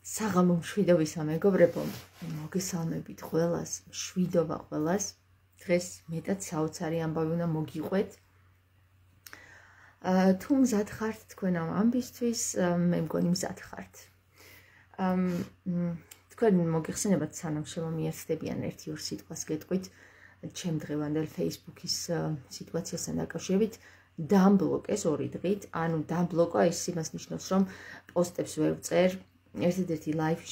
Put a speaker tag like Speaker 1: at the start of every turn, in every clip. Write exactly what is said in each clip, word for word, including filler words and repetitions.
Speaker 1: საღამო მშვიდობისა მეგობრებო, მოგესალმებით ყველას, მშვიდობა ყველას. დღეს მეტად საოცარი ამბავი უნდა მოგიყვეთ. თუ მზად ხართ თქვენ ამ ამბისთვის, მე მგონი მზად ხართ. თქვენ მოგეხსენებათ სანამ შემომიერთდებიან ერთი ორ სიტყვას გეტყვით ჩემ დღევანდელ Facebook-ის სიტუაციასთან დაკავშირებით დამბლოკეს ორი დღით, ანუ დამბლოკა ის იმას ნიშნავს, რომ პოსტებს ვერ ვწერ, ერთადერთი live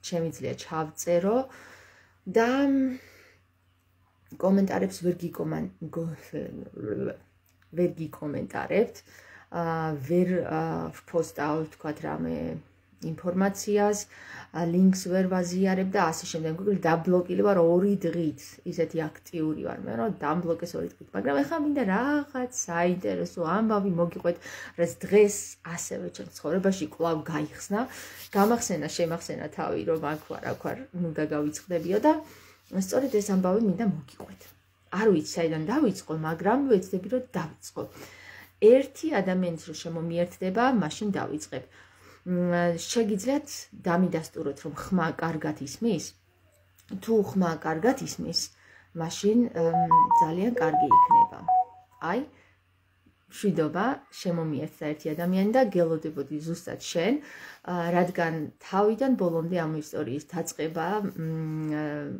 Speaker 1: შემიძლია ჩავწერო და კომენტარებს ვერ ვერ გიკომენტარებთ, ვერ ვპოსტავ თქვათ რამე ინფორმაციას, ლინკს ვერ ვაზიარებ და ასე შემდეგ. დაბლოკილი ვარ ორი დღით, ისეთი აქტიური ვარ მე, რომ დამბლოკეს ორი დღით, მაგრამ ეხლა მინდა რაღაც საინტერესო ამბავი მოგიყვეთ, რაც დღეს ასევე ჩემს ცხოვრებაში კვლავ გაიხსნა. გამახსენა, შემახსენა თავი, რომ აქ ვარ, აქ ვარ, ნუ და გავიწყდებიო და სწორედ ეს ამბავი მინდა მოგიყვეთ. არ ვიცი საიდან დავიწყო, მაგრამ ვეცდები რომ დავიწყო. ერთი ადამიანის რო შემომიერთდება, მაშინ დავიწყებ. შეგიძლიათ დამიდასტუროთ, რომ ხმა კარგად ისმის? თუ ხმა კარგად ისმის, მაშინ ძალიან კარგი იქნება. აი, მშვიდობა შემომიერთდა ერთი ადამიანი და გელოდებოდი ზუსტად შენ, რადგან თავიდან ბოლომდე ამ ისტორიის დაწყება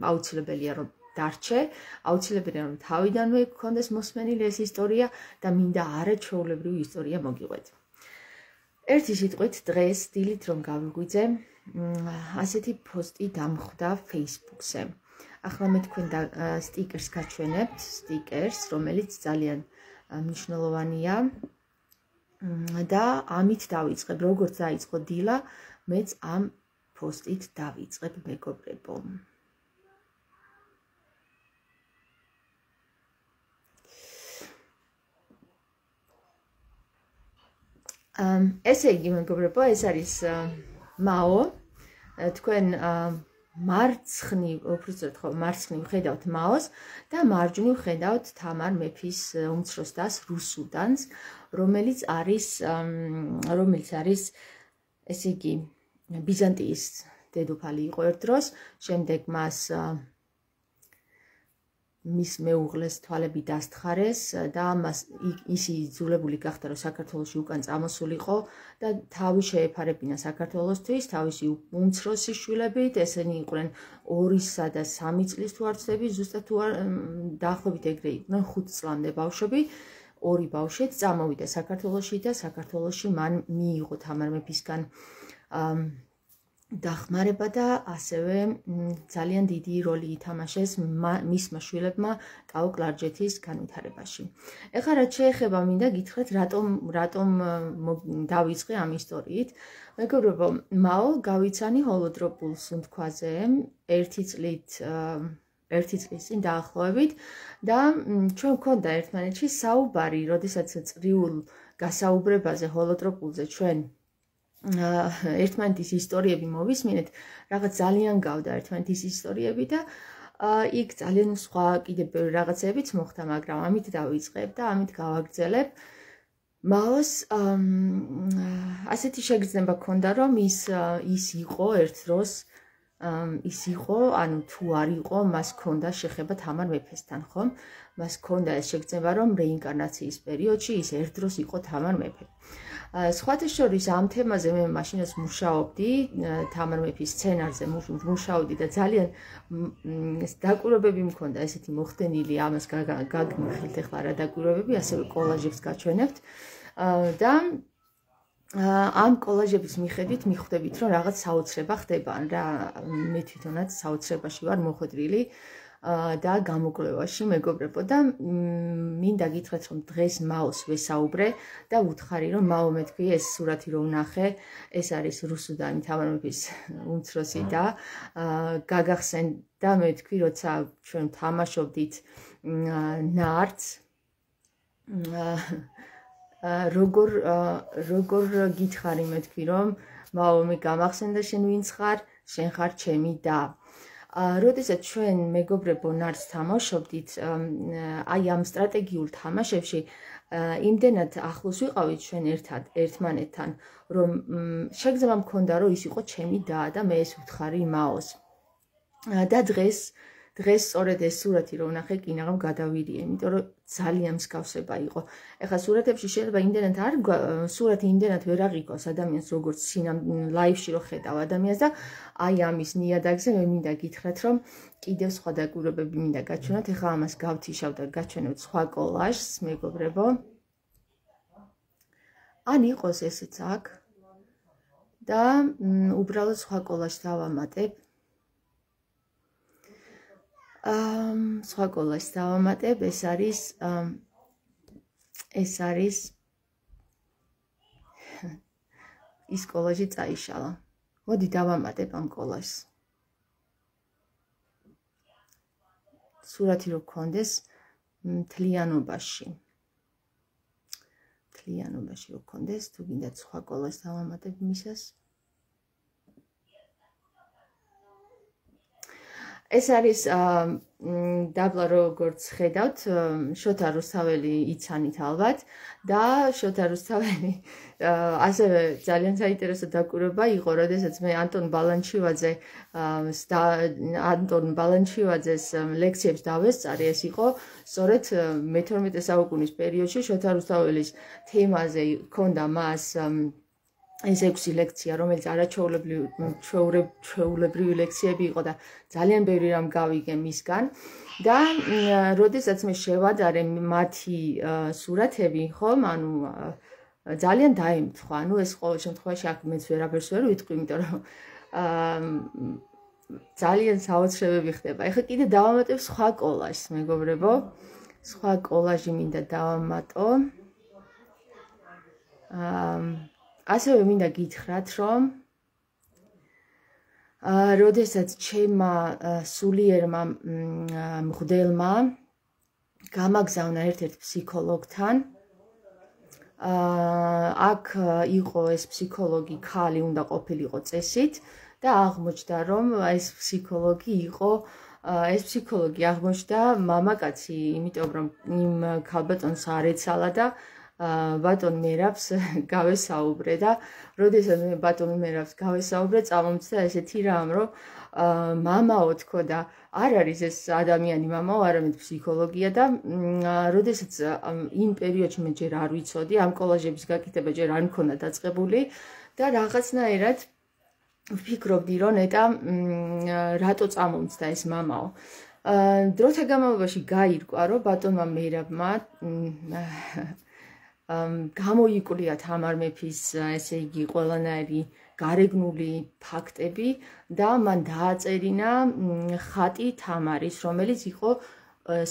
Speaker 1: აუცილებელია რომ დარჩე, აუცილებელია რომ თავიდანვე გქონდეს მოსმენილი ეს ისტორია და მინდა არაჩვეულებრივი ისტორია მოგიყვეთ. ერთი სიტყვით დღეს დილით რომ გავიგვიძე, ასეთი პოსტი დამხვდა Facebook-ზე. ახლა მე თქვენ სტიკერს გაჩვენებთ, სტიკერს, რომელიც ძალიან მნიშვნელოვანია და ამით დავიწყებ, როგორც დაიწყო დილა, მეც ამ პოსტით დავიწყებ მეგობრებო. ესე იგი მეგობრებო, ეს არის მაო, თქვენ მარცხნივ, უბრალოდ ხო, მარცხნივ ხედავთ მაოს და მარჯვნივ ხედავთ თამარ მეფის უმცროს დას რუსუდანს, რომელიც არის რომელიც არის ესე იგი ბიზანტიის დედოფალი იყო ერთ დროს, შემდეგ მას მის მეუღლეს თვალები დასთხარეს და მას ისი იძულებული გახდა რომ საქართველოში უკან წამოსულიყო და თავი შეეფარებინა საქართველოსთვის, თავისი უმცროსი შვილებით, ესენი იყვნენ ორისა და სამი წლის თუ არ ვცდები, ზუსტად თუ არ დაახლოებით ეგრე იყვნენ ხუთ წლამდე ბავშვები, ორი ბავშვი წამოვიდა საქართველოში და საქართველოში მან მიიღო თამარ მეფისგან დახმარება და ასევე ძალიან დიდი როლი ითამაშეს მისმა შვილებმა ტაო-კლარჯეთის განვითარებაში. ეხლა რაც შეეხება მინდა გითხრათ, რატომ რატომ დავიწყე ამ ისტორიით. მეგობრებო, მაო გავიცანი ჰოლოდროპულ სუნთქვაზე ერთი წლით ერთი წლის წინ დაახლოებით და ჩვენ გვქონდა ერთმანეთში საუბარი, როდესაც წრიულ გასაუბრებაზე ჰოლოდროპულზე ჩვენ ერთმანეთის ისტორიები მოვისმინეთ, რაღაც ძალიან გავდა ერთმანეთის ისტორიები და იქ ძალიან სხვა კიდე ბევრი რაღაცებიც მოხდა, მაგრამ ამით დავიწყებ და ამით გავაგრძელებ. მაოს ასეთი შეგრძნება ჰქონდა, რომ ის ის იყო ერთ დროს ის იყო, ანუ თუ არ იყო, მას ჰქონდა შეხება თამარ მეფესთან, ხომ? მას ჰქონდა ეს შეგრძნება, რომ რეინკარნაციის პერიოდში ის ერთ დროს იყო თამარ მეფე. სხვათა შორის ამ თემაზე მე მაშინაც მუშაობდი, თამარ მეფის სცენარზე მუშაობდი და ძალიან დაკვირვებები მქონდა ესეთი მოხდენილი, ამას გაგმიხილთ ახლა რა დაკვირვებები, ასევე კოლაჟებს გაჩვენებთ და ამ კოლაჟების მიხედვით მიხვდებით, რომ რაღაც საოცრება ხდება, რა მე თვითონაც საოცრებაში ვარ მოხვედრილი და გამოკვლევაში მეგობრებო და მინდა გითხრათ, რომ დღეს მაოს ვესაუბრე და ვუთხარი, რომ მაო მეთქვი ეს სურათი რო ვნახე, ეს არის რუსუდანი თამარ მეფის უმცროსი და გაგახსენ და მეთქვი, როცა ჩვენ თამაშობდით ნარდს როგორ როგორ გითხარი მეთქვი, რომ მაო მე გამახსენდა შენ ვინც ხარ, შენ ხარ ჩემი და როდესაც ჩვენ მეგობრებო ნარდს თამაშობდით, აი ამ სტრატეგიულ თამაშებში იმდენად ახლოს ვიყავით ჩვენ ერთად ერთმანეთთან, რომ შეგრძნება მქონდა, რომ ის იყო ჩემი და და მე ეს ვთხარი მაოს. და დღეს დღეს სწორედ ეს სურათი რომ ვნახე კინაღამ გადავირიე, იმიტომ რომ ძალიან მსგავსება იყო. ეხლა სურათებში შეიძლება იმდენად არ სურათი იმდენად ვერ აღიქვას ადამიანს როგორც სინამ ლაივში რო ხედავ ადამიანს და აი ამის ნიადაგზე მე მინდა გითხრათ რომ კიდევ სხვა დაკვირვებები მინდა გაჩვენოთ. ეხლა ამას გავთიშავ და გაჩვენოთ სხვა კოლაჟს, მეგობრებო. ან იყოს ესეც აქ და უბრალოდ სხვა კოლაჟს დავამატებ. ამ სხვა კოლაჟს დავამატებ, ეს არის ეს არის ის კოლაჟი წაიშალა. მოდი დავამატებ ამ კოლაჟს. სურათი რო გქონდეს მთლიანობაში. მთლიანობაში რო გქონდეს, თუ გინდათ სხვა კოლაჟს დავამატებ მისას. ეს არის დაბლა როგორც ხედავთ, შოთა რუსთაველი იცანით ალბათ და შოთა რუსთაველი ასევე ძალიან საინტერესო დაკვირვება იყო, როდესაც მე ანტონ ბალანჩივაძე ანტონ ბალანჩივაძეს ლექციებს დავესწარი, ეს იყო სწორედ მეთორმეტე საუკუნის პერიოდში შოთა რუსთაველის თემაზე ჰქონდა მას ეს ექვსი ლექცია, რომელიც არაჩვეულებრივი ლექციები იყო და ძალიან ბევრი რამ გავიგე მისგან და როდესაც მე შევადარე მათი სურათები, ხომ, ანუ ძალიან დაემთხვა. ანუ ეს ყოველ შემთხვევაში აქ მეც ვერაფერს ვერ ვიტყვი, იმიტომ რომ ძალიან საოცრებები ხდება. ეხლა კიდე დავამატებ სხვა კოლაჟს, მეგობრებო. სხვა კოლაჟი მინდა დავამატო. აა ასევე მინდა გითხრათ, რომ როდესაც ჩემმა სულიერმა მღვდელმა გამაგზავნა ერთ-ერთ ფსიქოლოგთან, აქ იყო ეს ფსიქოლოგი ქალი უნდა ყოფილიყო წესით და აღმოჩნდა, რომ ეს ფსიქოლოგი იყო ეს ფსიქოლოგი აღმოჩნდა მამაკაცი, იმიტომ რომ იმ ქალბატონს არ ეცალა და ბატონ მერაბს გავესაუბრე და როდესაც მე ბატონ მერაბს გავესაუბრე, წამომწდა ესეთი რამ, რომ მამაო თქო და არ არის ეს ადამიანი მამაო, არამედ ფსიქოლოგია და როდესაც იმ პერიოდში მე ჯერ არ ვიცოდი, ამ კოლაჟების გაკეთება ჯერ არ მქონდა დაწყებული და რაღაცნაირად ვფიქრობდი, რომ ნეტა რატო წამომწდა ეს მამაო. დროთა განმავლობაში გაირკვა, რომ ბატონმა მერაბმა გამოიკვლია თამარ მეფის, ესე იგი, ყველანაირი გარეგნული ფაქტები და მან დააწერინა ხატი თამარის, რომელიც იყო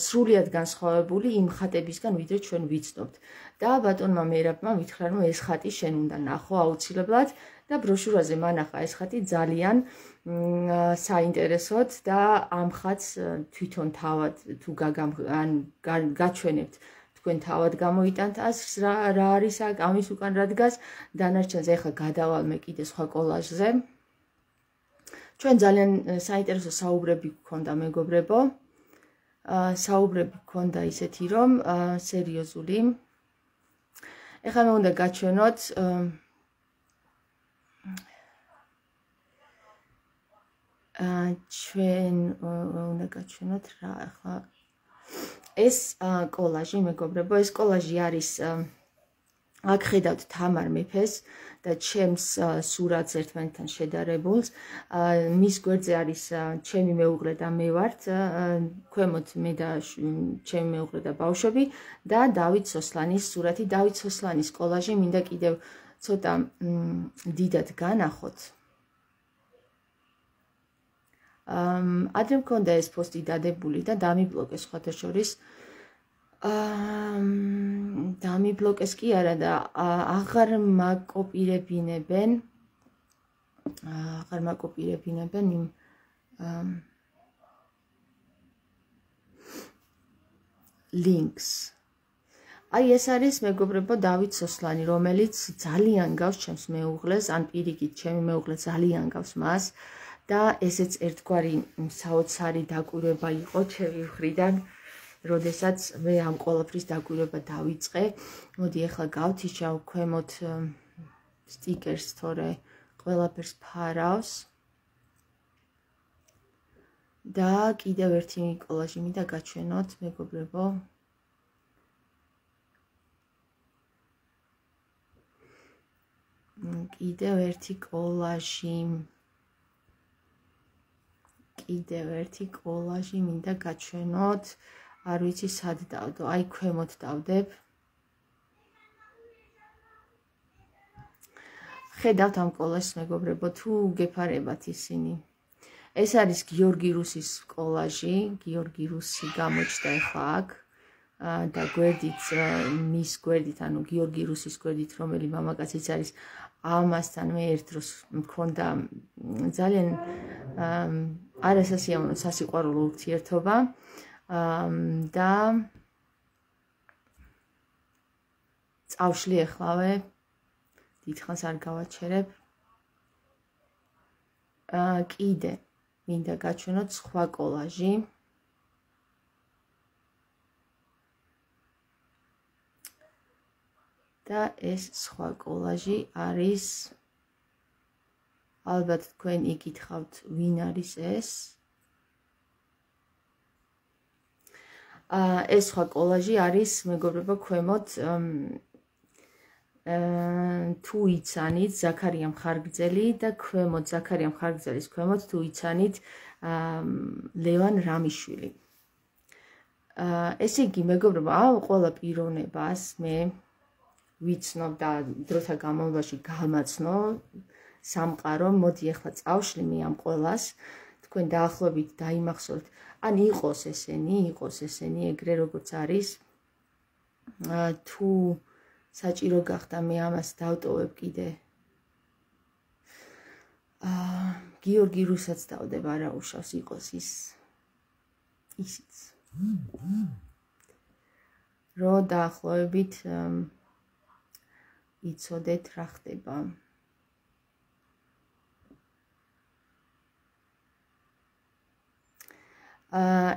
Speaker 1: სრულიად განსხვავებული იმ ხატებისგან, ვიდრე ჩვენ ვიცნობთ. და ბატონმა მერაბმა მითხრა, რომ ეს ხატი შენ უნდა ნახო აუცილებლად და ბროშურაზე მანახა ეს ხატი ძალიან საინტერესოდ და ამ ხატს თვითონ თავად თუ გაჩვენებთ თქვენ თავად გამოიტანთ ასს რა არის აქ, ამის უკან რა დგას, დანარჩენზე ახლა გადავალმე კიდე სხვა კოლაჟზე. ჩვენ ძალიან საინტერესო საუბრები გქონდა, მეგობრებო. საუბრები გქონდა ისეთი, რომ სერიოზული. ეხლა მე უნდა გაჩვენოთ ჩვენ უნდა გაჩვენოთ რა ახლა ეს კოლაჟი, მეგობრებო, ეს კოლაჟი არის აქ ხედავთ თამარ მეფეს და ჩემს სურათს ერთმანეთთან შედარებულს. მის გვერდზე არის ჩემი მეუღლე და მე ვართ, ქვემოთ მე და ჩემი მეუღლე და ბავშვები და დავით სოსლანის სურათი. დავით სოსლანის კოლაჟი მინდა კიდევ ცოტა დიდად განახოთ. ადრე მქონდა ეს პოსტი დადებული და დამიბლოკეს სხვათა შორის. დამიბლოკეს კი არა და აღარ მაკოპირებინებენ აღარ მაკოპირებინებენ იმ links. აი ეს არის, მეგობრებო, დავით სოსლანი, რომელიც ძალიან გავს ჩემს მეუღლეს, ან პირიქით ჩემი მეუღლე ძალიან გავს მას და ესეც ერთგვარი საოცარი დაკვირვება იყო ჩემი მხრიდან, როდესაც მე ამ ყველაფრის დაკვირვება დავიწყე. მოდი ახლა გავთიშავ ქვემოთ სტიკერს, თორე ყველაფერს ფარავს. და კიდევ ერთი კოლაჟი მინდა გაჩვენოთ, მეგობრებო. კიდევ ერთი კოლაჟი. კიდევ ერთი კოლაჟი მინდა გაჩვენოთ. არ ვიცი სად დავდო, აი ქვემოთ დავდებ. ხედავთ ამ კოლაჟს, მეგობრებო, თუ გეფარებათ ისინი. ეს არის გიორგი რუსის კოლაჟი, გიორგი რუსი გამოჩნდა ახლა აქ და გვერდით, მის გვერდით, ანუ გიორგი რუსის გვერდით, რომელი მამაკაციც არის, ამასთან მე ერთ დროს მქონდა ძალიან არასასიამოვნო სასიყვარულო ურთიერთობა და წავშლი ეხლავე, დიდხანს არ გავაჩერებ. კიდე მინდა გაჩვენოთ სხვა კოლაჟი. და ეს სხვა კოლაჟი არის, ალბათ თქვენ იკითხავთ, ვინ არის ეს. ეს სხვა კოლაჟი არის, მეგობრებო, ქვემოთ თუ იცანით ზაქარია მხარგრძელი და ქვემოთ ზაქარია მხარგრძელის ქვემოთ თუ იცანით ლევან რამიშვილი. ესე იგი, მეგობრებო, ამ ყველა პიროვნებას მე ვიცნობ და დროთა განმავლობაში გამაცნო სამყარო. მოდი ახლა წავშლი მე ამ ყველას, თქვენ დაახლოებით დაიმახსოვრთ, ან იყოს ესენი, იყოს ესენი ეგრე როგორც არის. თუ საჭირო გახდა მე ამას დავტოვებ კიდე. გიორგი რუსაც დავდებ, არა უშავს, იყოს ის ისიც. რო დაახლოებით იცოდეთ რა ხდება.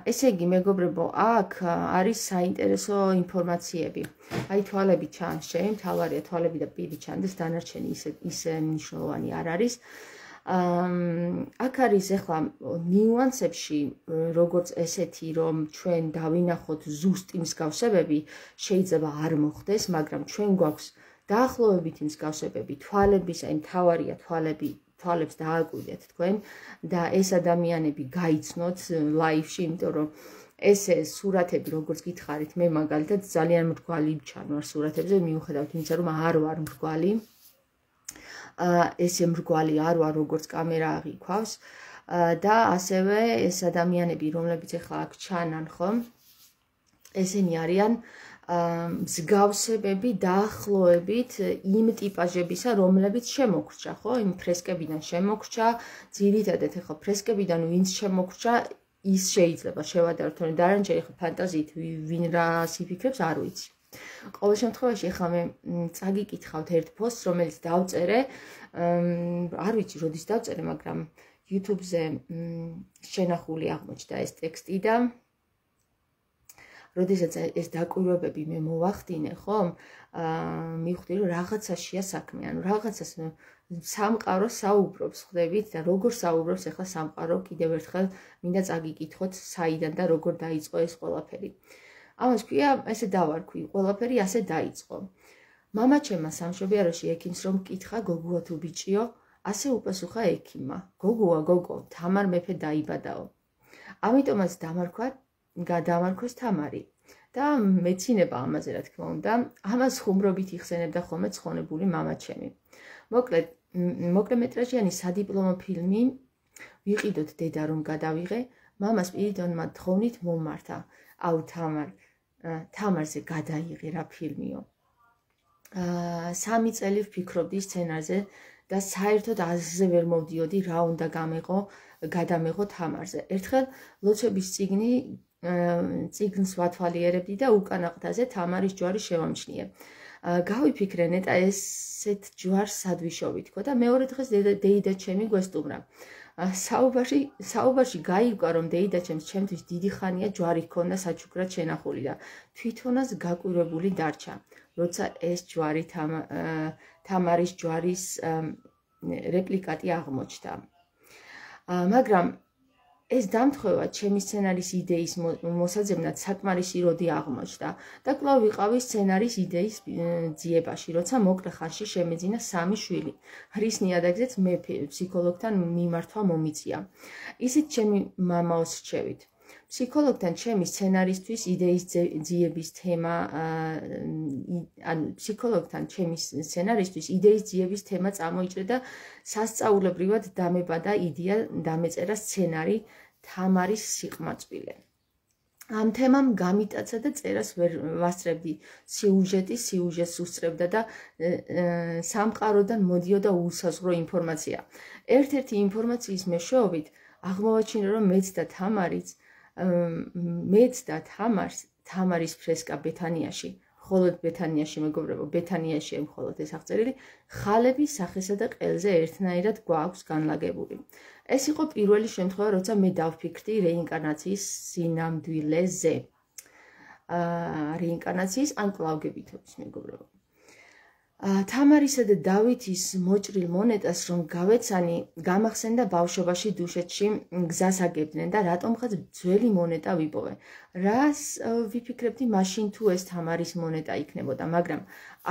Speaker 1: ესე იგი, მეგობრებო, აქ არის საინტერესო ინფორმაციები. აი თვალები ჩანს, შენ თავარია თვალები და პირი ჩანდეს, დანარჩენი ისე ისე მნიშვნელოვანი არ არის. აქ არის ახლა ნიუანსებში, როგორც ესეთი, რომ ჩვენ დავინახოთ ზუსტი მსგავსებები, შეიძლება არ მოხდეს, მაგრამ ჩვენ გვაქვს დაახლოებითი მსგავსებები თვალების, აი თავარია თვალები, თვალებს დააკვირდეთ თქვენ და ეს ადამიანები გაიცნოთ ლაივში, იმიტომ რომ ესე სურათები, როგორც გითხარით, მე მაგალითად ძალიან მრგვალი ჩანვარ სურათებზე, მიუხედავად იმისა, რომ არ ვარ მრგვალი. ესე მრგვალი არ ვარ, როგორც კამერა აღიქვავს და ასევე ეს ადამიანები, რომლებიც ახლა აქ ჩანან, ხო? ესენი არიან მსგავსებები დაახლოებით იმ ტიპაჟებისა, რომლებიც შემოგრჩა, ხო? იმ ფრესკებიდან შემოგრჩა, ძირითადად ახლა ფრესკებიდან ვინც შემოგრჩა, ის შეიძლება შევადაროთ, თორემ დანარჩენი ახლა ფანტაზიით ვინ რას იფიქრებს, არ ვიცი. ყოველ შემთხვევაში ახლა მე წაგიკითხავთ ერთ პოსტს, რომელიც დავწერე, არ ვიცი როდის დავწერე, მაგრამ YouTube-ზე შენახული აღმოჩნდა ეს ტექსტი და როდესაც ეს დაკვირვებები მე მოვახდინე, ხომ? მივხვდი, რომ რაღაცაშია საქმე, ანუ რაღაცას სამყარო საუბრობს, ხვდებით და როგორ საუბრობს ახლა სამყარო, კიდევ ერთხელ მინდა წაგიკითხოთ, საიდან და როგორ დაიწყო ეს ყველაფერი. ამას ქვია, ესე დავარქვი, ყველაფერი ასე დაიწყო. მამაჩემმა სამშობიაროში ექიმს რომ მკითხა, გოგოა თუ ბიჭიო, ასე უპასუხა ექიმმა. გოგოა, გოგო, თამარ მეფე დაიბადაო. ამიტომაც დამარქვა გადამარქვეს თამარი და მეცინება ამაზე, რა თქმა უნდა, ამას ხუმრობით იხსენებდა ხოლმე ცხონებული მამაჩემი. მოკლედ, მოკლემეტრაჟიანი სადიპლომო ფილმი ვიყიდოთ დედა რომ გადავიღე, მამას პირიდანმა თხოვნით მომმართა. აუ თამარ, თამარზე გადაიღე რა ფილმიო. სამი წელი ვფიქრობდი სცენარზე და საერთოდ აზრზე ვერ მოვდიოდი რა უნდა გამეღო, გადამეღო თამარზე. ერთხელ ლოცვების წიგნი წიგნს ვათვალიერებდი და უკანა ყდაზე თამარის ჯვარი შევამჩნიე. გავიფიქრე ნეტა ესეთ ჯვარს სად ვიშოვი თქო და მეორე დღეს დეიდა ჩემი გვესტუმრა. საუბარში საუბარში გაიგვა რომ დეიდა ჩემს ჩემთვის დიდი ხანია ჯვარი ჰქონდა საჩუქრად შენახული და თვითონაც გაკვირვებული დარჩა. როცა ეს ჯვარი თამარის ჯვარის რეპლიკატი აღმოჩნდა. მაგრამ ეს დამთხოვა ჩემი სცენარის იდეის მოსაძებნად საკმარისი როდი აღმოჩნდა და კვლავ ვიყავი სცენარის იდეის ძიებაში, როცა მოკლე ხანში შემეძინა სამი შვილი. რის ნიადაგზეც მე ფსიქოლოგთან მიმართვა მომიწია. ისიც ჩემი მამაოს რჩევით. ფსიქოლოგთან ჩემი სცენარისთვის იდეის ძიების თემა ან ფსიქოლოგთან ჩემი სცენარისთვის იდეის ძიების თემა წამოიჭრა და სასწაულებრივად დამებადა იდეა დამეწერა სცენარი თამარის სიყმაწვილე. ამ თემამ გამიტაცა და წერას ვერ ვასწრებდი. სიუჟეტი სიუჟეტს უსწრებდა და სამყაროდან მოდიოდა უსაზღვრო ინფორმაცია. ერთ-ერთი ინფორმაციის მეშვეობით აღმოვაჩინა რომ მეც და თამარიც მეც და თამარს თამარის ფრესკა ბეთანიაში, მხოლოდ ბეთანიაში მეგობრებო, ბეთანიაში მხოლოდ ეს აღწერილი, ხალები სახესა და ყელზე ერთნაირად გვაქვს განლაგებული. ეს იყო პირველი შემთხვევა, როცა მე დავფიქრდი რეინკარნაციის სინამდვილეზე. რეინკარნაციის ან კვლავგებითობის მეგობრებო. თამარისა და დავითის მოჭრილ მონეტას რომ გავეცანი, გამახსენდა ბავშვობაში დუშეთში გზას აგებდნენ და რატომღაც ძველი მონეტა ვიპოვე. რას ვიფიქრებდი მაშინ თუ ეს თამარის მონეტა იქნებოდა, მაგრამ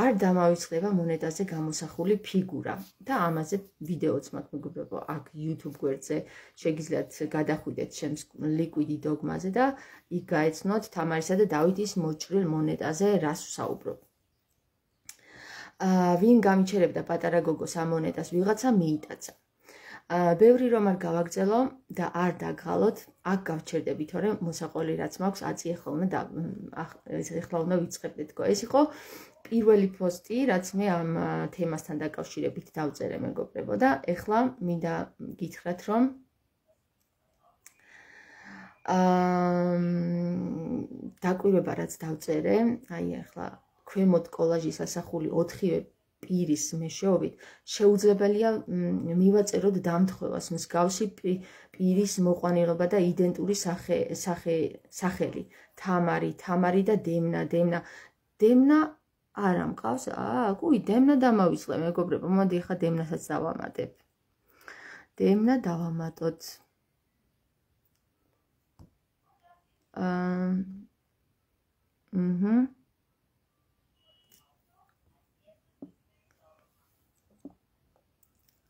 Speaker 1: არ დამავიწყდება მონეტაზე გამოსახული ფიგურა და ამაზე ვიდეოც მაქვს მეგობრებო, აქ YouTube გვერდზე შეგიძლიათ გადახვიდეთ ჩემს Liquid Dogma-ზე და იქ გაეცნოთ თამარისა და დავითის მოჭრილ მონეტაზე რას ვსაუბრობ. ვინ გამიჩერებდა პატარა გოგოს ამ მონეტას, ვიღაცა მიიტაცა. ბევრი რომ არ გავაგრძელო და არ დაგღალოთ, აქ გავჩერდები, თორემ მოსაყოლი რაც მაქვს აწი ახლა უნდა ეხლა უნდა ვიწყებდეთ. ეს იყო პირველი პოსტი, რაც მე ამ თემასთან დაკავშირებით დავწერე მეგობრებო და ეხლა მინდა გითხრათ რომ დაკვირვება რაც დავწერე, აი ახლა ქვემოთ კოლაჟის ასახული ოთხივე პირის მეშვეობით შეუძლებელია მივაწეროთ დამთხოვას მსგავსი პირის მოყვანილობა და იდენტური სახელი თამარი, თამარი და დემნა, დემნა, დემნა არა მყავს, აა, კუი, დემნა დამავიწყე მეგობრებო, მოდი ახლა დემნასაც დავამატებ. დემნა დავამატოთ. აა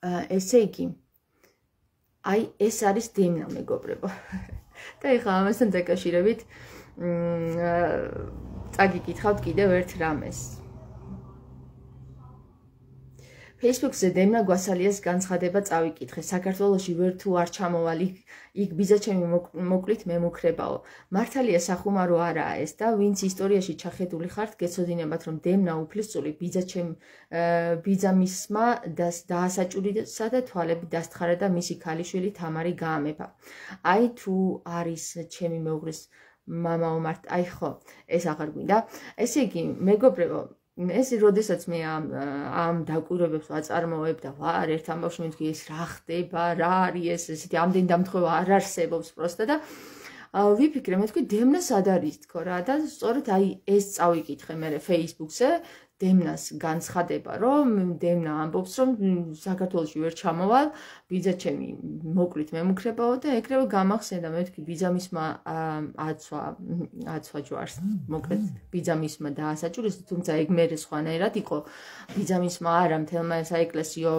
Speaker 1: აჰა ესე იგი, აი ეს არის დემნა მეგობრებო. და ეხლა ამასთან დაკავშირებით წაგიკითხავთ კიდევ ერთ რამეს. Facebook-ზე დემნა გვასალიას განცხადება წავიკითხე. საქართველოში ვერ თუ არ ჩამოვალ, იქ ბიძაჩემი მოკლით მემუქრებაო. მართალია სახუმარო არაა ეს და ვინც ისტორიაში ჩახედული ხართ, გეცოდინებათ რომ დემნა უფლისწული ბიძაჩემ ბიძამისმა დაასაჭურისა და თვალები დასთხარა და მისი ქალიშვილი თამარი გაამეფა. აი თუ არის ჩემი მეუღლის მამაო მართ, აი ხო, ეს აღარ გვინდა. ესე იგი, მეგობრებო, ეს როდესაც მე ამ ამ დაკვირვებებს ვაწარმოებ და ვარ ერთ ამბავში მეთქი ეს რა ხდება, რა არის ეს, ესეთი ამდენი დამთხოვა არ არსებობს პროსტა და ვიფიქრე, მეთქი დემნა სად არის თქო რა და სწორედ აი ეს წავიკითხე მე Facebook-ზე დემნას განცხადება, რომ დემნა ამბობს, რომ საქართველოში ვერ ჩამოვალ, ბიძაჩემი მოკლით მემუქრებაო და ეგრევე გამახსენდა, მეთქი ბიძამისმა აცვა, აცვა ჯვარს, მოკლედ ბიძამისმა დაასაჭურეს, თუმცა ეგ მერე სხვანაირად იყო, ბიძამისმა არა მთელმა საეკლესიო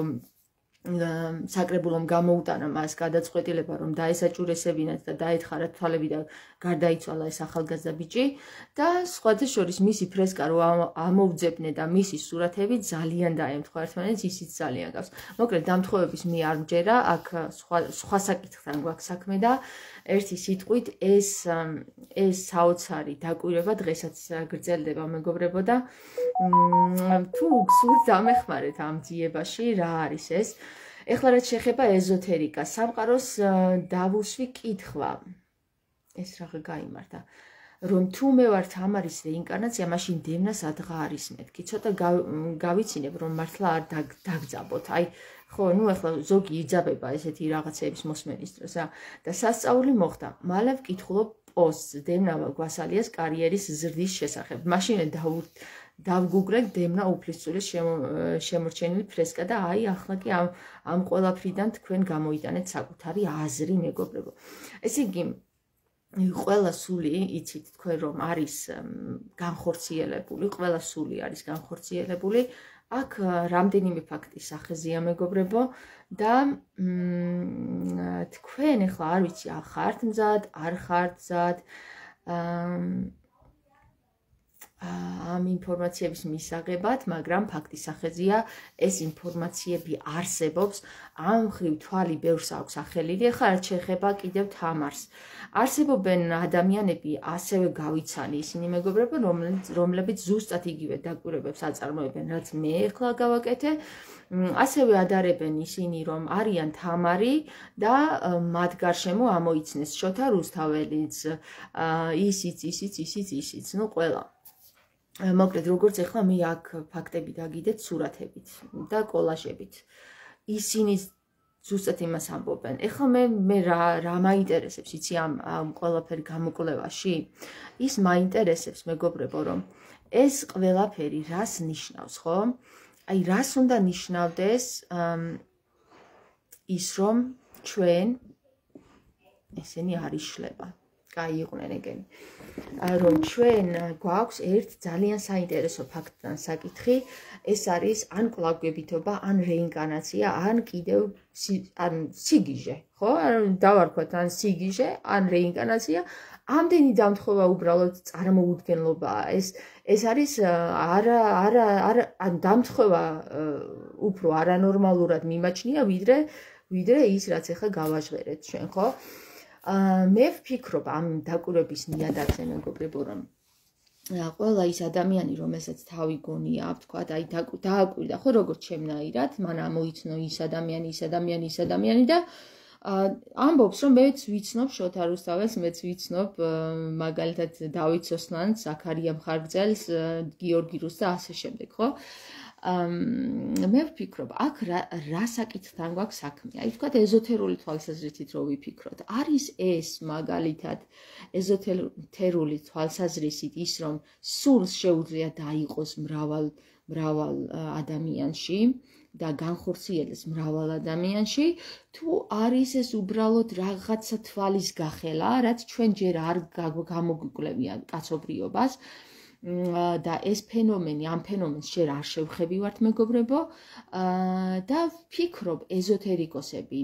Speaker 1: საკრებულომ გამოუტანა მას გადაწყვეტილება, რომ დაესაჭურესებინათ და დაეთხარათ თვალები და გარდაიცვალა ეს ახალგაზრდა ბიჭი და სხვათა შორის მისი ფრესკა რო ამოვძებნე და მისი სურათები ძალიან დაემთხვა ერთმანეთს, ისიც ძალიან გავს. მოკლედ დამთხოვების მე არ მჯერა, აქ სხვა სხვა საკითხთან გვაქვს საქმე და ერთი სიტყვით ეს ეს საოცარი დაკვირვება დღესაც გრძელდება მეგობრებო და თუ გსურთ დამეხმარეთ ამ ძიებაში რა არის ეს. ეხლა რაც შეეხება ეზოთერიკას, სამყაროს დავუსვი კითხვა. ეს რა გაიმართა. რომ თუ მე ვარ თამარის რეინკარნაცია, მაშინ დევნა სადღა არის მეთქი. ცოტა გავიცინებ, რომ მართლა არ დაგძაბოთ. აი, ხო, ნუ ახლა ზოგი იძაბება ესეთი რაღაცების მოსმენის დროს, ა და სასწაული მოხდა. მალე ვკითხულობ პოსტს დევნა გვასალიას კარიერის ზრდის შესახებ. მაშინ დავგუგლებ დევნა უფლისწულის შემორჩენილი ფრესკა და აი ახლა კი ამ ამ ყველაფრიდან თქვენ გამოიტანეთ საკუთარი აზრი, მეგობრებო. ესე იგი ყველა სული იცით თქვენ რომ არის განხორციელებული, ყველა სული არის განხორციელებული. აქ რამდენიმე ფაქტის სახეზია, მეგობრებო, და თქვენ ახლა არ ვიცი, ხართ მზად, არ ხართ მზად ამ ინფორმაციების მისაღებად, მაგრამ ფაქტის სახეზია, ეს ინფორმაციები არსებობს, ამ ხრივ თვალი ბევრს აქვს ახელილი, ახლა რაც შეეხება კიდევ თამარს. არსებობენ ადამიანები, ასევე გავიცანი ისინი, მეგობრებო, რომლებიც ზუსტად იგივე დაკვირვებებს აწარმოებენ, რაც მე ახლა გავაკეთე. ასევე ადარებენ ისინი, რომ არიან თამარი და მათ გარშემო ამოიცნეს შოთა რუსთაველიც, ისიც, ისიც, ისიც, ისიც, ნუ ყველა. მოკლედ, როგორც ახლა მე აქ ფაქტები დაგიდეთ სურათებით და კოლაჟებით. ისინი ზუსტად იმას ამბობენ. ეხლა მე მე რა რა მაინტერესებს, იცი ამ ამ ყველაფერი გამოკვლევაში? ის მაინტერესებს, მეგობრებო, რომ ეს ყველაფერი რას ნიშნავს, ხო? აი, რას უნდა ნიშნავდეს ის, რომ ჩვენ ესენი არ იშლება. კაი იყვნენ ეგენი. რომ ჩვენ გვაქვს ერთ ძალიან საინტერესო ფაქტთან საკითხი, ეს არის ან კვლავგებითობა, ან რეინკარნაცია, ან კიდევ ან სიგიჟე, ხო? დავარქვათ ან სიგიჟე, ან რეინკარნაცია. ამდენი დამთხოვა უბრალოდ წარმოუდგენლობაა. ეს ეს არის არა არა არა ან დამთხოვა უფრო არანორმალურად მიმაჩნია, ვიდრე ვიდრე ის, რაც ახლა გავაჟღერეთ ჩვენ, ხო? მე ვფიქრობ ამ დაკვირვების ნიადაგზე, მეგობრებო, რომ ყველა ის ადამიანი, რომელსაც თავი გონია, ვთქვათ, აი დააკვირდა, ხო, როგორც ჩემნაირად, მან ამოიცნო ის ადამიანი, ის ადამიანი, ის ადამიანი და ამბობს, რომ მეც ვიცნობ შოთა რუსთაველს, მეც ვიცნობ მაგალითად დავით სოსლანს, ზაქარია მხარგრძელს, გიორგი რუსს და ასე შემდეგ, ხო? მე ვფიქრობ, აქ რა საკითხთან გვაქვს საქმე? აი, ვთქვათ, ეზოთერული თვალსაზრისით რო ვიფიქროთ, არის ეს მაგალითად ეზოთერული თვალსაზრისით ის, რომ სულს შეუძლია დაიყოს მრავალ მრავალ ადამიანში და განხორციელდეს მრავალ ადამიანში, თუ არის ეს უბრალოდ რაღაცა თვალის გახელა, რაც ჩვენ ჯერ არ გამოგვიკვლევია კაცობრიობას და ეს ფენომენი, ამ ფენომენს ჯერ არ შევხებივართ, მეგობრებო, და ვფიქრობ, ეზოთერიკოსები,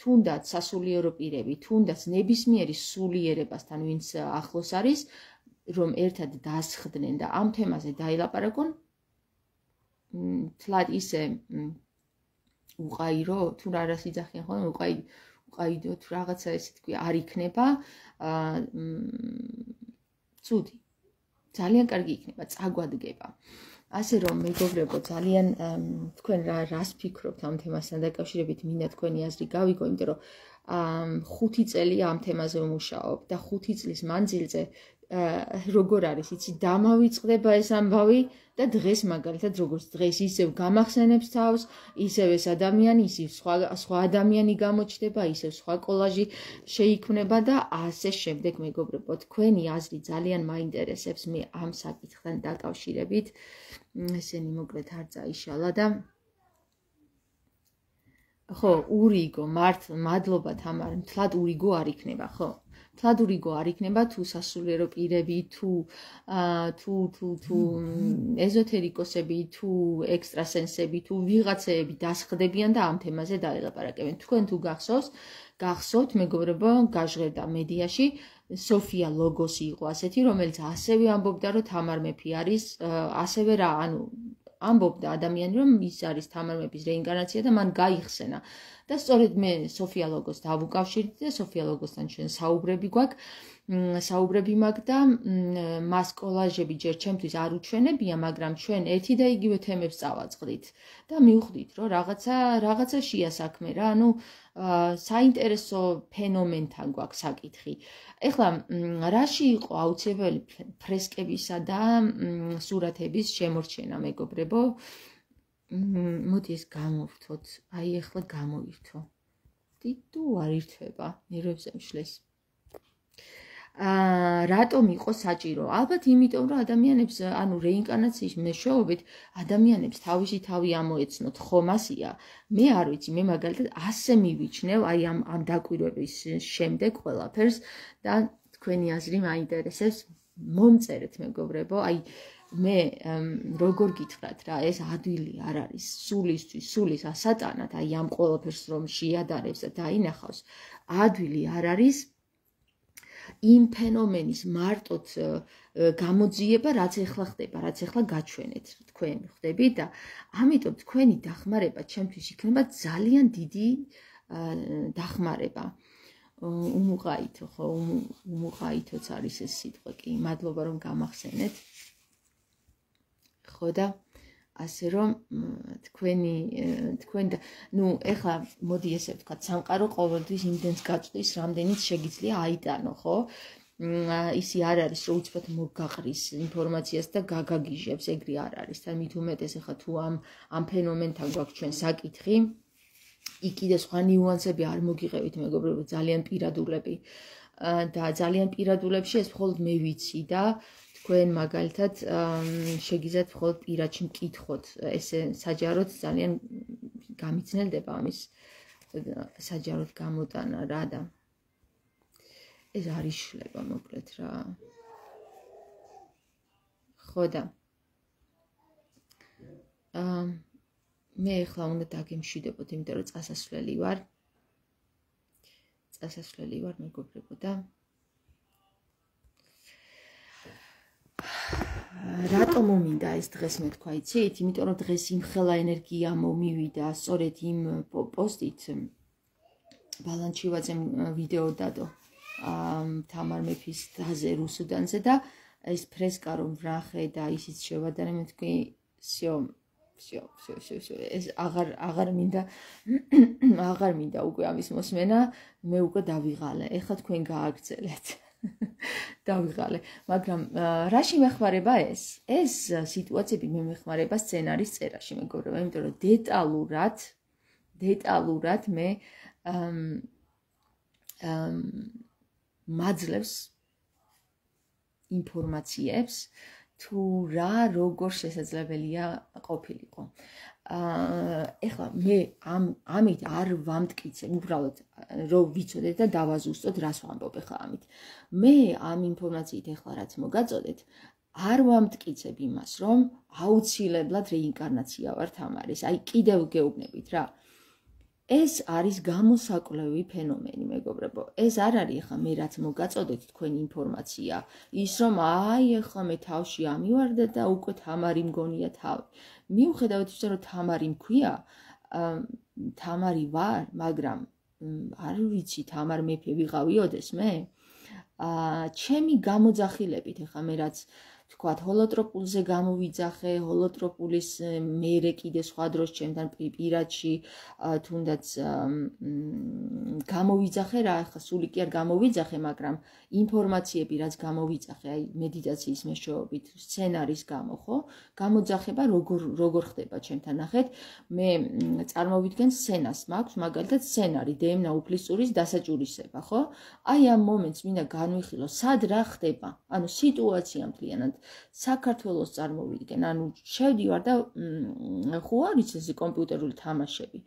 Speaker 1: თუნდაც სასულიერო პირები, თუნდაც ნებისმიერი სულიერებასთან, ვინც ახლოს არის, რომ ერთად დასხდნენ და ამ თემაზე დაილაპარაკონ, თლად ისე უყაირო, თუ რა რას იძახიან ხოლმე, უყაიდო, თუ რაღაცა ესე თქვი, არ იქნება, ცუდი, ძალიან კარგი იქნება, წაგვადგება. ასე რომ, მეგობრებო, ძალიან თქვენ რას ფიქრობთ ამ თემასთან დაკავშირებით, მინდა თქვენი აზრი გავიგო, იმიტომ რომ ხუთი წელია ამ თემაზე ვმუშაობ და ხუთი წლის მანძილზე როგორ არის, იცი, დამავიწყდება ეს ამბავი და დღეს მაგალითად როგორც დღეს ისევ გამახსენებს თავს, ისევ ეს ადამიანი, ისევ სხვა სხვა ადამიანი გამოჩნდება, ისევ სხვა კოლაჟი შეიქმნება და ასე შემდეგ, მეგობრებო, თქვენი აზრი ძალიან მაინტერესებს მე ამ საკითხთან დაკავშირებით. ესენი მოკლედ არ წაიშალა და ხო, ურიგო, მართ, მადლობა თამარ, მთლად ურიგო არ იქნება, ხო? მთლად ურიგო არ იქნება, თუ სასულიერო პირები, თუ თუ თუ თუ ეზოთერიკოსები, თუ ექსტრასენსები, თუ ვიღაცეები დასხდებიან და ამ თემაზე დაელაპარაკებენ. თქვენ თუ გახსოვს, გახსოვთ, მეგობრებო, გაჟღერდა მედიაში სოფია ლოგოსი იყო ასეთი, რომელიც ასევე ამბობდა, რომ თამარ მეფე არის, ასევე რა, ანუ ამბობდა ადამიანი, რომ ის არის თამარ მეფის რეინკარნაცია და მან გაიხსენა. და სწორედ მე სოფია ლოგოს დავუკავშირდი და სოფია ლოგოსთან ჩვენ საუბრები გვაქვს საუბრები მაქვს და მას კოლაჟები ჯერ ჩემთვის არ უჩვენებია, მაგრამ ჩვენ ერთი და იგივე თემებს წავაწყდით და მივხვდით, რომ რაღაცა რაღაცა შეა საქმე რა, ანუ საინტერესო ფენომენთან გვაქვს საკითხი. ეხლა რაში იყო აუცილებელი ფრესკებისა და სურათების შემორჩენა, მეგობრებო? მოდი ეს გამოვთოთ, აი ეხლა გამოვირთო. დიდუ არ ირთვება, ნერვებზე მშლეს. აა რატომ იყო საჭირო? ალბათ იმიტომ, რომ ადამიანებს, ანუ რეინკარნაციის მეშვეობით ადამიანებს თავისი თავი ამოეცნოთ, ხომ ასია? მე არ ვიცი, მე მაგალითად ასე მივიჩნევ, აი ამ ამ დაკვირვების შემდეგ ყველაფერს და თქვენი აზრი მაინტერესებს, მომწერეთ მეგობრებო, აი მე როგორ გითხრათ რა, ეს ადვილი არ არის სულისთვის, სულის ასატანად, აი ამ ყველაფერს რომ შეადარებს და დაინახავს, ადვილი არ არის იმ ფენომენის მარტოდ გამოძიება, რაც ეხლა ხდება, რაც ეხლა გაჩვენეთ თქვენ ხდებით და ამიტომ თქვენი დახმარება ჩემთვის იქნება ძალიან დიდი დახმარება. უმუყაითო ხო, უმუყაითოც არის ეს სიტყვა კი, მადლობა რომ გამახსენეთ. ხო და ასე რომ თქვენი თქვენ და ნუ ეხლა მოდი ესე ვთქვათ, სამყარო ყოველთვის იმდენს გაწვდის, რამდენიც შეგიძლია აიტანო, ხო? ისი არ არის, რომ უცბად მოგაყრის ინფორმაციას და გაგაგიჟებს, ეგრე არ არის. და მით უმეტეს ეხლა თუ ამ ამ ფენომენთან გვაქვს ჩვენ საკითხი, იქ კიდე სხვა ნიუანსები არ მოგიყევით, მეგობრებო, ძალიან პირადულები და ძალიან პირადულებში ეს მხოლოდ მე ვიცი და თქვენ მაგალითად შეგიძლიათ მხოლოდ პირადში მკითხოთ, ესე საჯაროდ ძალიან გამიცნელდება ამის საჯაროდ გამოტანა რა და ეს არ იშლება მოკლედ რა. ხო და მე ახლა უნდა დაგემშვიდობოთ, იმიტომ რომ წასასვლელი ვარ. წასასვლელი ვარ მეგობრებო და რატომ მომინდა ეს დღეს მე თქვა, იცით? იმიტომ რომ დღეს იმხელა ენერგია მომივიდა, სწორედ იმ პოსტით ბალანჩივაძემ ვიდეო დადო თამარ მეფის დაზე რუსუდანზე და ეს ფრესკა რომ ვრახე და ისიც შევადარე, მე თქვი, всё, всё, всё, всё, всё, ეს აღარ აღარ მინდა აღარ მინდა უკვე ამის მოსმენა, მე უკვე დავიღალე. ეხლა თქვენ გააგრძელეთ. დავიღალე, მაგრამ რაში მეხმარება ეს? ეს სიტუაციები მე მეხმარება სცენარის წერაში, მეგობრებო, იმიტომ რომ დეტალურად, დეტალურად მე მაძლევს ინფორმაციებს თუ რა როგორ შესაძლებელია ყოფილიყო. ეხლა მე ამ ამით არ ვამტკიცებ, უბრალოდ რომ ვიცოდეთ და დავაზუსტოთ, რას ვამბობ ეხლა ამით. მე ამ ინფორმაციით ეხლა რაც მოგაწოდეთ, არ ვამტკიცებ იმას, რომ აუცილებლად რეინკარნაცია ვარ თამარის. აი კიდევ გეუბნებით რა. ეს არის გამოსაკვლევი ფენომენი, მეგობრებო. ეს არ არის ახლა მე რაც მოგაწოდეთ თქვენი ინფორმაცია, ის რომ აი ახლა მე თავში ამივარდა და უკვე თამარი მგონია თავი. მიუხედავად იმისა, რომ თამარი მქვია, თამარი ვარ, მაგრამ არ ვიცი თამარ მეფე ვიყავიოდეს მე. ჩემი გამოძახილებით ახლა მე რაც თქვათ, ჰოლოტროპულზე გამოვიძახე, ჰოლოტროპულის მერე კიდე სხვა დროს ჩემთან პირადში თუნდაც გამოვიძახე რა, ახლა სული კი არ გამოვიძახე, მაგრამ ინფორმაციები რაც გამოვიძახე, აი მედიტაციის მეშვეობით, სცენარის გამო, ხო? გამოძახება როგორ როგორ ხდება ჩემთან, ნახეთ, მე წარმოვიდგენ სცენას მაქვს, მაგალითად სცენარი დეემნა უფლისწურის დასაჭურისება, ხო? აი ამ მომენტს მინდა განვიხილო, სად რა ხდება, ანუ სიტუაცია მთლიანად საქართველოს წარმოვიდგენ, ანუ შევდივარ და ხო არის ეს კომპიუტერული თამაშები.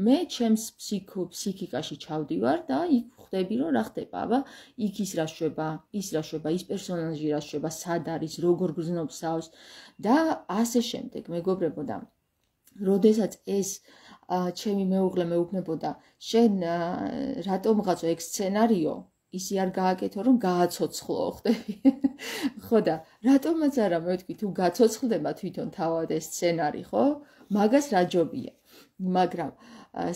Speaker 1: მე ჩემს ფსიქიკაში ჩავდივარ და იქ ხვდები რომ რა ხდება, აბა იქ ის რა შვება, ის რა შვება, ის პერსონაჟი რა შვება, სად არის, როგორ გრძნობს თავს და ასე შემდეგ, მეგობრებო და როდესაც ეს ჩემი მეუღლე მეუბნებოდა, შენ რატომღაცო ეგ სცენარიო ისი არ გააკეთო, რომ გააცოცხლო, ხდები? ხო და რატომაც არა, მე ვთქვი, თუ გაცოცხლდება თვითონ თავად ეს სცენარი, ხო? მაგას რა ჯობია. მაგრამ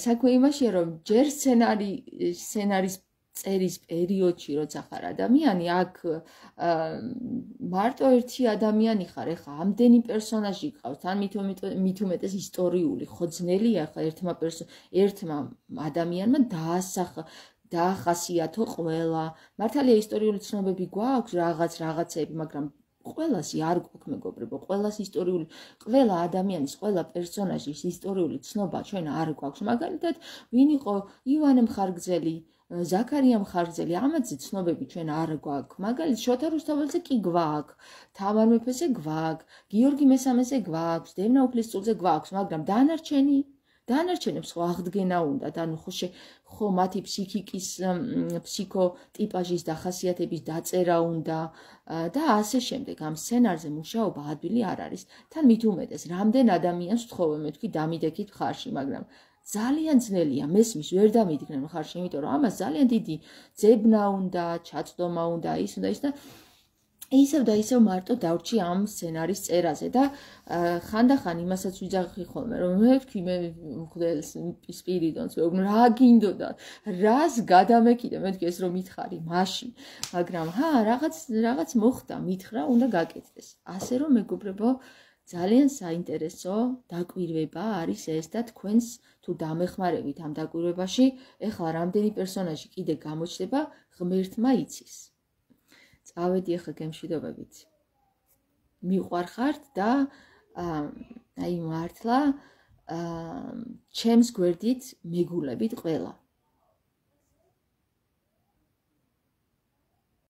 Speaker 1: საქმე იმაშია, რომ ჯერ სცენარი, სცენარის წერის პერიოდში როცა ხარ ადამიანი, აქ მარტო ერთი ადამიანი ხარ, ეხლა ამდენი პერსონაჟი გყავს, თან მით უმეტეს ისტორიული, ხოძნელია ხა ერთმა ერთმა ადამიანმა დაასახა დაახასიათო ყველა. მართალია ისტორიული ცნობები გვაქვს, რაღაც რაღაცები, მაგრამ ყველასი არ გვაქვს მეგობრებო, ყველას ისტორიული, ყველა ადამიანის, ყველა პერსონაჟის ისტორიული ცნობა ჩვენ არ გვაქვს. მაგალითად, ვინ იყო ივანე მხარგრძელი, ზაქარია მხარგრძელი, ამაზე ცნობები ჩვენ არ გვაქვს. მაგალითად, შოთა რუსთაველზე კი გვაქვს, თამარ მეფეზე გვაქვს, გიორგი მესამეზე გვაქვს, დევნა უფლისწულზე გვაქვს, მაგრამ დანარჩენი დანარჩენებს ხო აღდგენა უნდათ, ანუ ხო ხო მათი ფსიქიკის ფსიქოტიპაჟის დახასიათების დაწერა უნდა და ასე შემდეგ. ამ სცენარზე მუშაობა ადვილი არ არის. თან მით უმეტეს, რამდენ ადამიანს ვთხოვე მე თქვი დამიდექით მხარში, მაგრამ ძალიან ძნელია მესმის ვერ დამიდგნენ მხარში, იმიტომ რომ ამას ძალიან დიდი ძებნა უნდა, ჩაწდომა უნდა, ის უნდა ის და ისევ და ისევ მარტო დავრჩი ამ სცენარის წერაზე და ხანდახან იმასაც ვიძახი ხოლმე, რომ მე ვთქვი მე მღვდელს სპირიდონს, მე რა გინდოდა, რას გადამეკიდე, მე ვთქვი ეს რომ მითხარი მაშინ, მაგრამ ჰა რაღაც რაღაც მოხდა, მითხრა, უნდა გაკეთდეს. ასე რომ მეგობრებო, ძალიან საინტერესო დაკვირვება არის ეს და თქვენს თუ დამეხმარებით ამ დაკვირვებაში, ეხლა რამდენი პერსონაჟი კიდე გამოჩნდება, ღმერთმა იცის. წავედი ახლა გემშვიდობებით. მიყვარხართ და აი მართლა ჩემს გვერდით მეგულებით ყველა.